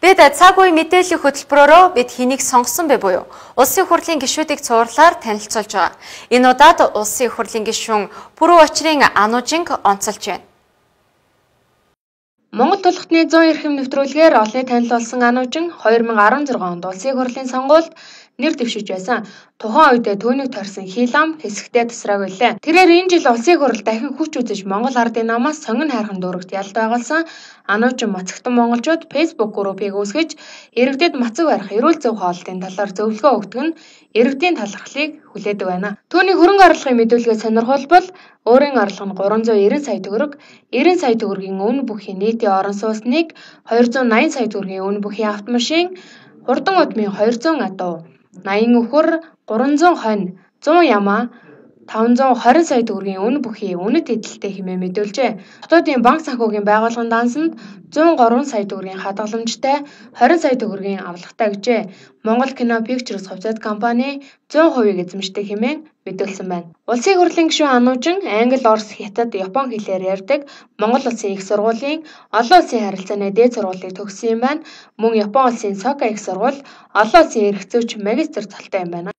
Бид цаг үе мэдээллийн хөтөлбөрөөрөө бид хэнийг сонгосон бэ буюу улсын их хурлын гишүүдийг цуурлаар танилцуулж байгаа. Энэ удаад улсын их хурлын гишүүн Пүрэв Очрын Анужинг онцолж байна. Монгол тулхтны 100 эрхэм нэвтрүүлгээр олонний танил болсон Анужин 2016 онд улсын их хурлын сонгуульд нэр дэвшиж байсан. Тухайн үед түүнийг торьсон хилам хэсэгтээ тасраагүй лээ. Тэрээр энэ жил улсын их хурл дахин хүч үзэж Монгол ардын намаас сонгон хайрхан дүүрэгт ялд байгуулсан Анужин Мацагтан монголчууд Facebook группыг үүсгэж иргэдэд мацаг барих эрүүл зөв хоолтын талаар зөвлөгөө өгдөг нь иргэдийн талархлыг хүлээдэг байна. Түүний хөрөнгө оруулалтын мэдүүлгээ сонирхолбол өөрийн орлого нь 390 сая төгрөг, 90 сая төгрөгийн үнэ бүхий нийтийн орон сууцныг 280 сая төгрөгийн үнэ бүхий автомашин, хурдан удмын 200 адуу, 80 өхөр, 300 хонь, 100 ямаа, 520 сая төгрөгийн үнэ бүхий үнэт эдэлтэй хэмээн мэдүүлжээ. Хотуудын банк санхүүгийн байгууллагын дансанд 103 сая төгрөгийн хадгаламжтай 20 сая төгрөгийн авлагатай гэжээ. Монгол кино Pictures хувьцаат компани 100% эзэмшдэг хэмээн мэдүүлсэн байна. Улсын их хурлын гишүүн Анужин англи, орос, хятад, япон хэлээр ярьдаг. Монгол улсын их сургуулийн олон улсын харилцааны дээд сургуулийг төгссөн юм байна. Мөн Япон улсын Сока их сургууль олон улсын эрх зүйч магистр цолтой юм байна.